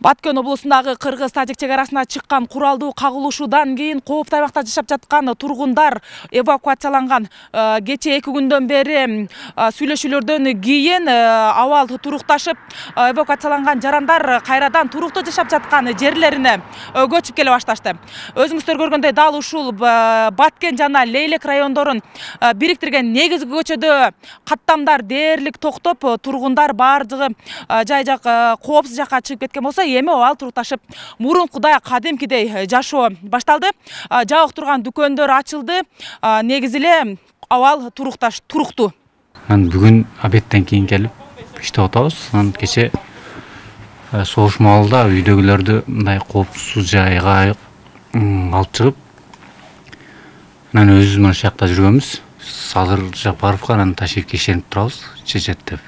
Баткен облусундагы кыргыз-тажик чек арасына чыккан куралдуу кагылышуудан кийин кооптуу аймакта жашап жаткан тургундар эвакуацияланган. Кече 2 күндөн бери сүйлөшүүлөрдөн кийин абал турукташып, эвакуацияланган жарандар кайрадан туруктуу жашап жаткан жерлерине көчүп келе башташты. Өзүңүздөр көргөндөй дал ушул Баткен жана Лейлек райондорун бириктирген негизги көчөдө каттамдар дээрлик токтоп, тургундар бардыгы жай жак коопсуз жакка чыгып кеткен болсо, эми абал турукташып, мурункудай кадимкидей жашоо башталды. Жабык турган дүкөндөр ачылды. Негизи эле абал туруктуу. Мен бүгүн обедтен кийин келип иштеп атабыз. Кече согуш маалында үйдөгүлөрдү мындай коопсуз жайга алып чыгып, өзүбүз мына жакта жүргөнбүз. Садыр Жапаровго ташиб ишенип турабыз, чечет деп.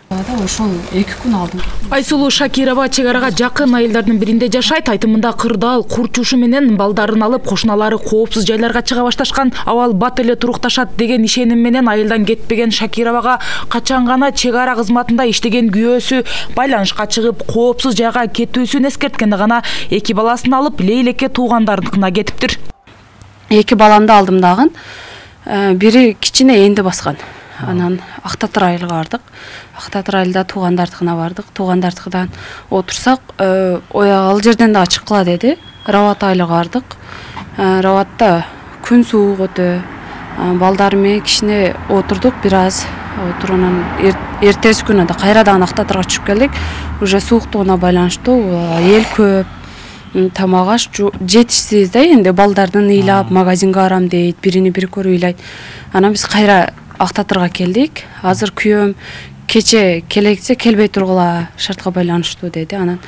Ошол 2 күн алдым. Айсулуу Шакирова чек арага жакын айылдардын биринде жашайт. Айтымында кырдаал курчушу менен балдарын алып, кошуналары коопсуз жайларга чыга башташкан. Абал бат эле турукташат деген ишеним менен айылдан кетпеген Шакировага качан гана чек ара кызматында иштеген күйөөсү байланышка чыгып, коопсуз жайга кетүүсүн эскерткенде гана 2 баласын алып Лейлекке туугандарыныкына кетиптир. 2 баламды алдым дагы. Бири кичине энди баскан. Анан Актатыр айылга бардык. Актатыр айылда туугандардыкына бардык. Туугандардыкынан отурсак, ал жерден да чыккыла деди. Рават айылга бардык. Раватта күн суук өтө. Балдар менен кичине отурдук, бир аз отурунан эртеси күнү да кайрадан Актатырга түшүп келдик. Уже сууктугуна байланыштуу эл көп. Тамак аш жетишсиз да, энди балдардын ыйлап магазинге барам дейт, бирини бири көрүп ыйлайт. Анан биз кайра Актатырга келдик. Азыр күйөөм кече келексе келбей тургула, шартка байланыштуу деди. Анан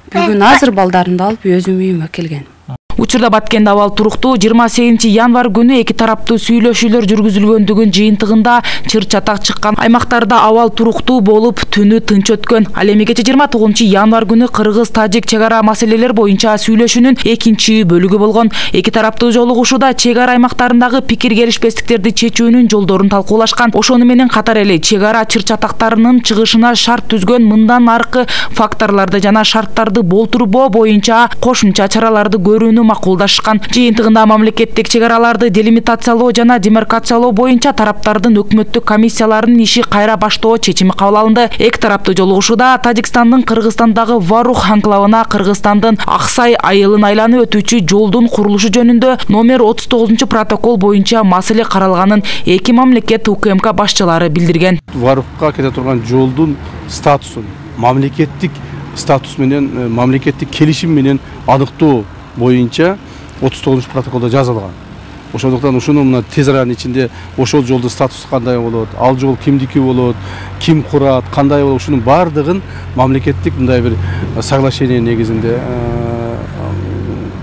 бүгүн азыр балдарымды алып өзүм үйүмө келген. Учурда Баткенде абал туруктуу. 28 январь күнү 2 тараптуу сүйлөшүүлөр жүргүзүлгөндүгүн жыйынтыгында чыр-чатак чыккан аймактарда абал туруктуу болуп, түнү тынч өткөн. Ал эми кече 29 январь күнү кыргыз-тажик чек ара маселелер боюнча сүйлөшүүнүн 2 бөлүгү болгон. 2 тараптуу жолугушууда чек ара аймактарындагы пикир келишпестиктерди чечүүнүн жолдорун талкуулашкан. Ошону менен катар эле чек ара чыр-чатактарынын чыгышына шарт түзгөн мындан аркы факторлорду жана шарттарды болтурбоо боюнча кошумча чараларды көрүүнү макулдашкан. Жыйынтыгында мамлекеттик чек араларды делимитациялоо жана демаркациялоо боюнча тараптардын өкмөттүк комиссияларынын иши кайра баштоо чечими кабыл алынды. 2 тараптуу жолугушууда Тажикстандын Кыргызстандагы Варух анклавына Кыргызстандын Аксай айылын айланып өтүүчү жолдун курулушу жөнүндө номер 39 протокол боюнча маселе каралганын 2 мамлекет УКМК башчылары билдирген. Варухка кете турган жолдун статусун мамлекеттик статус менен, мамлекеттик келишим менен аныктоо боюнча 39 протоколдо жазылган. Ошондуктан ушуну мына тез аранын ичинде ошол жолдун статусу кандай болот, ал жол кимдики болот, ким курат, кандай болот, ушунун бардыгын мамлекеттик мындай бир соглашение негизинде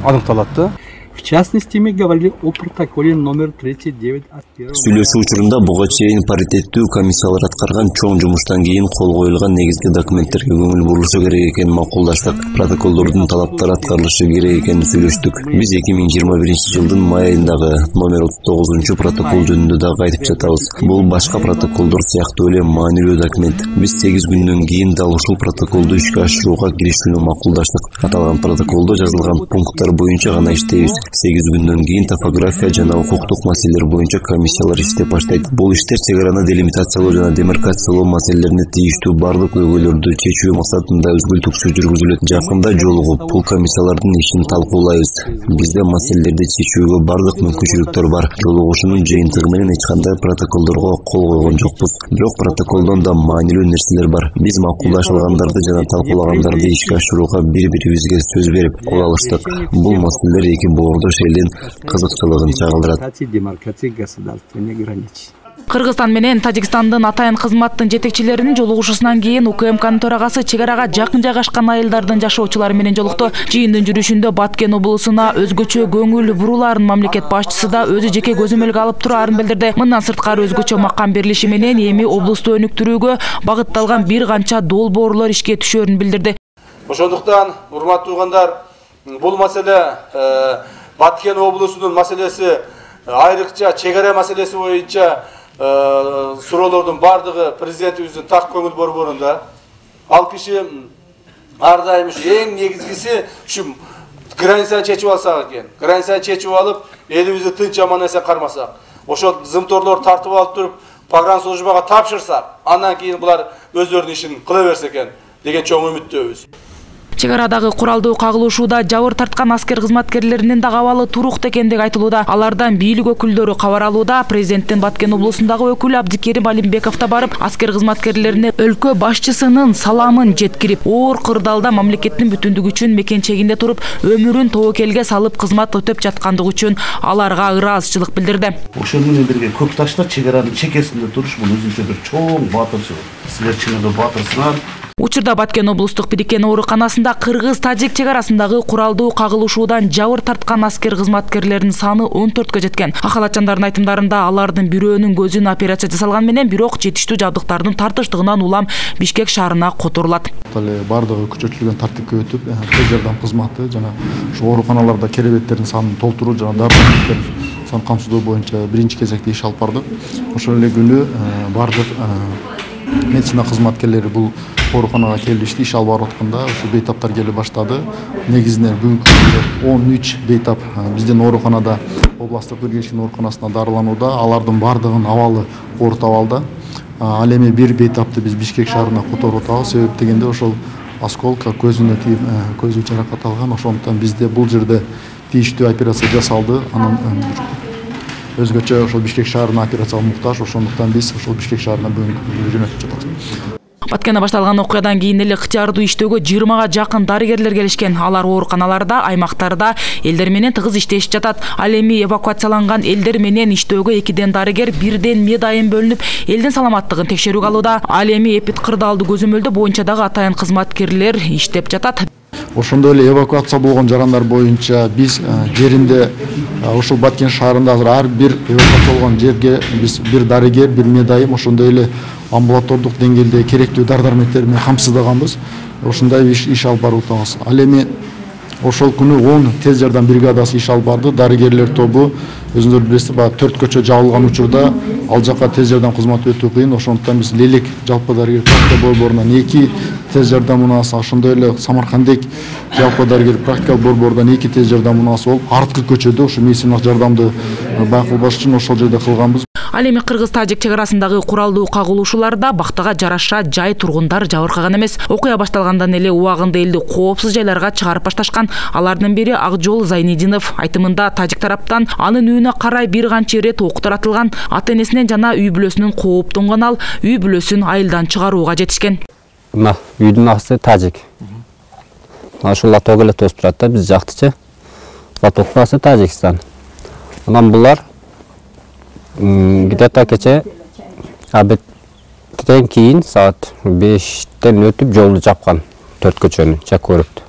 аныкталат да. В частности, мы говорили о протоколе номер 39 от 1. Сүйлөшүү учурунда буга чейин паритеттүү комиссиялар аткарган чоң жумуштан кийин кол коюлган негизги документтерге көңүл бурулушу керек экенин макулдаштык. Протоколдордун талаптары аткарылышы керек экенин сүйлөштүк. Биз 2021 жылдын май айындагы номер 39 протокол жөнүндө дагы айтып жатабыз. Бул башка протоколдор сыяктуу эле маанилүү документ. Биз 8 күндөн кийин дал ушул протоколду ишке ашырууга киришүүнү макулдаштык. Аталган протоколдо жазылган пункттар боюнча гана иштейбиз. 8 күндөн кийин топография жана укуктук маселелер боюнча комиссиялар иштеп баштайт. Бул иштер чек араны делимитациялоо жана демаркациялоо маселелерине тийиштүү бардык көйгөйлөрдү чечүү максатында үзгүлтүксүз жүргүзүлөт. Жакында жолугуп, бул комиссиялардын ишин талкуулайбыз. Бизде маселелерди чечүүгө бардык мүмкүнчүлүктөр бар. Жолугушуунун жыйынтыгы менен эч кандай протоколдорго кол койгон жокпуз. Бирок протоколдон да маанилүү нерселер бар. Биз макулдашылгандарды жана талкуулагандарды ишке ашырууга бири-бирибизге сөз берип кол алыштык. Бул маселелер эки боордош элдин кызыкчылыгын чагылдырат. Кыргызстан менен Тажикстандын атайын кызматтын жетекчилеринин жолугушуусунан кийин УКМКнын төрагасы чек арага жакын жайгашкан айылдардын жашоочулары менен жолукту. Жыйындын жүрүшүндө Баткен облусуна өзгөчө көңүл буруларын мамлекет башчысы да өзү жеке көзөмөлгө алып турарын билдирди. Мындан сырткары өзгөчө макам берилиши менен эми облусту өнүктүрүүгө багытталган бир канча долбоорлор ишке түшөрүн билдирди. Ошондуктан, урматтуу туугандар, бул маселе Баткен облусунун маселеси, айрыкча чек ара маселеси боюнча суроолордун бардыгы президентибиздин так көңүл борборунда. Ал киши ар дайым эң негизгиси ушу границаны чечип алсак экен. Границаны чечип алып, элибизди тынч аман эсен кармасак, ошол зымторлорду тартып алып туруп, погранслужбага тапшырсак, андан кийин булар өздөрүнүн ишин кыла берсе экен деген чоң үмүттөбүз. Чек арадагы куралдуу кагылышууда жабыр тарткан аскер кызматкерлеринин дагы абалы туруктуу экендиги айтылууда. Алардан бийлик өкүлдөрү кабар алууда. Президенттин Баткен облусундагы өкүлү Абдикерим Алимбеков да барып, аскер кызматкерлерине өлкө башчысынын саламын жеткирип, оор кырдаалда мамлекеттин бүтүндүгү үчүн мекенчегинде туруп, өмүрүн тобокелге салып кызмат өтөп жаткандыгы үчүн аларга ыраазычылык билдирди. Ошол менен бирге көк таштар чек аранын чекесинде туруш бул өзүнчө бир чоң баатырчылык. Силер чыныгы баатырсыңар. Учурда Баткен облустук Бирикен ооруканасында кыргыз-тажик чек арасындагы куралдуу кагылышуудан жабыр тарткан аскер кызматкерлеринин саны 14кө жеткен. Акалатчандардын айтымдарында алардын бирөөнүн көзүн операция жасалган менен, бирок жетиштүү жабдыктардын тартыштыгынан улам Бишкек шаарына которулат. Бардыгы күчөтүлгөн тартипке өтүп, тез жардам кызматы жана ушу ооруканаларда керебеттердин санын толтуруу жана дары-дармектер сан камсыздоо боюнча биринчи кезекте иш алып бардык. Ошол эле күнү бардык медицина кызматкерлери бул ооруканага келишти, иш алып барып атканда ушу бейтаптар келе баштады. Негизинен бүгүнкү күндө 13 бейтап биздин ооруканада, областтык Биргичкен ооруканасында дарыланууда. Алардын бардыгынын абалы орто абалда. Ал эми бир бейтапты биз Бишкек шаарына которуп атабыз. Себеп дегенде ошол осколка көзүнө тийип, көзү жаракат алган. Ошондуктан бизде бул жерде тийиштүү операция жасалды. Анын өзгөчө ошол Бишкек шаарына операцияга муктаж. Ошондуктан биз ошол Бишкек шаарына бүгүн жөнөтүп жатабыз. Баткенде башталган окуядан кийин эле ыктыярдуу иштөөгө 20га жакын дарыгерлер келишкен. Алар ооруканаларда, аймактарда элдер менен тыгыз иштешип жатат. Ал эми эвакуацияланган элдер менен иштөөгө 2ден дарыгер, 1ден медайым бөлүнүп, элдин саламаттыгын текшерүүгө алууда. Ал эми эпид кырдаалды көзөмөлдөө боюнча дагы атайын кызматкерлер иштеп жатат. Ошондой эле эвакуация болгон жарандар боюнча биз жеринде ушул Баткен шаарында ар бир эвакуация болгон жерге биз бир дарыгер, бир медайым, ошондой эле амбулатордук деңгээлде керектүү дары-дармектер менен камсыздаганбыз. Ошондой иш алып барып атабыз. Ал эми ошол күнү 10 тез жардам бригадасы иш алып барды. Дарыгерлер тобу өзүңөр билесиз, баягы 4 көчө жабылган учурда ал жака тез жардам кызматы өтүү кыйын. Ошондуктан биз Лелек жалпы дарыгер практика борборунан 2 тез жардам унаасы, ошондой эле Самаркандек жалпы дарыгер практикалык борборунан 2 тез жардам унаасы болуп, арткы көчөдө ушу медициналык жардамды байкалбаш үчүн ошол жерде кылганбыз. Ал эми кыргыз-тажик чек арасындагы куралдуу кагылышууларда бактага жараша жай тургундар жабыркаган эмес. Окуя башталгандан эле убагында элди коопсуз жайларга чыгарып башташкан. Алардын бири Акжол Зайнидинов. Айтымында тажик тараптан анын үйүнө карай бир канча ирет ок таратылган. Ата-энесинен жана үй бүлөсүнөн кооптонгон ал үй бүлөсүн айылдан чыгарууга жетишкен. Мына үйдүн асы тажик. Ошол латок эле тосуп турат да, биз жактычы. Латоктун асы Тажикстан. Анан булар где-то кече обедтен кийин саат 5тен өтүп жолду жапкан, 4 көчөнү чек көрүптү.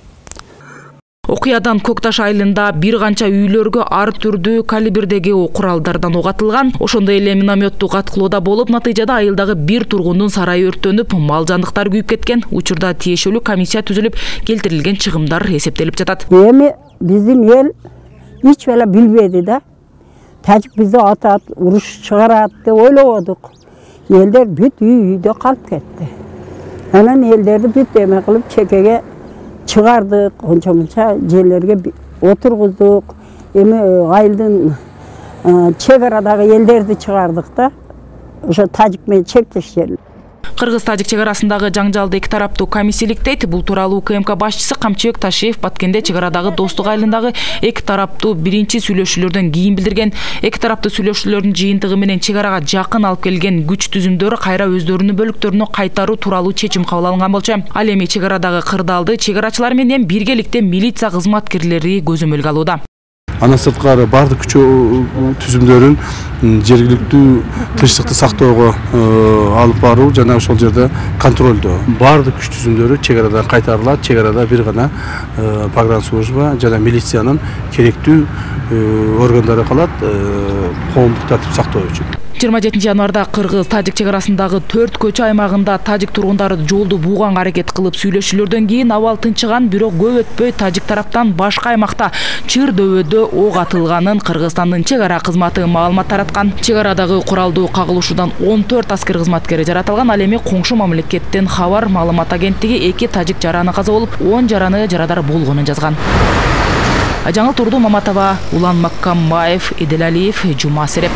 Окуядан Көкташ айылында бир канча үйлөргө ар түрдүү калибрдеги куралдардан ок атылган. Ошондой эле минометтук аткылоодо болуп, натыйжада айылдагы бир тургундун сарайы өрттөнүп, мал жандыктар күйүп кеткен. Учурда тиешелүү комиссия түзүлүп, келтирилген чыгымдар эсептелип жатат. Эми биздин эл эч бала билбеди да. Тажик бизди атат, уруш чыгарат деп ойлободук. Элдер бүт үйдө калып кетти. Анан элдерди бүт эме кылып чекеге чыгардык, онча-мынча жерлерге отургуздук. Эми айылдын чек арадагы элдерди чыгардык да. Ошо тажик менен чектеш жер. Кыргыз-тажик чек арасындагы жаңжалды эки тараптуу комиссияликтейт. Бул тууралуу УКМК башчысы Камчыбек Ташиев Баткенде чек арадагы Достук айылындагы эки тараптуу биринчи сүйлөшүүлөрдөн кийин билдирген. Эки тараптуу сүйлөшүүлөрдүн жыйынтыгы менен чек арага жакын алып келген күч түзүмдөрү кайра өздөрүнүн бөлүктөрүнө кайтаруу тууралуу чечим кабыл алынган болчу. Ал эми чек арадагы кырдаалды чек арачылар менен биргеликте милиция кызматкерлери көзөмөлгө алууда. Андан сырткары бардык күч түзүмдөрүн жергиликтүү тынчтыкты сактоого алып баруу жана ошол жерде контролдоо. Бардык күч түзүмдөрү чек арадан кайтарылат. Чек арада бир гана погранслужба жана милициянын керектүү органдары калат коомдук тартип сактоо үчүн. 27 январда кыргыз-тажик чек арасындагы 4 көчө аймагында тажик тургундары жолду бууганга аракет кылып сүйлөшүүлөрдөн кийин абал тынчыган, бирок көп өтпөй тажик тараптан башка аймакта чыр дөбөдө ок атылганын Кыргызстандын чек ара кызматы маалымат тараткан. Чек арадагы куралдуу кагылышуудан 14 аскер кызматкери жаратылган. Ал эми коңшу мамлекеттен Хабар маалымат агенттиги 2 тажик жараны каза болуп, 10 жараны жарадар болгонун жазган. Жаңыл Турду Маматова, Улан Маккамбаев, Эделалиев, Жума Сереп.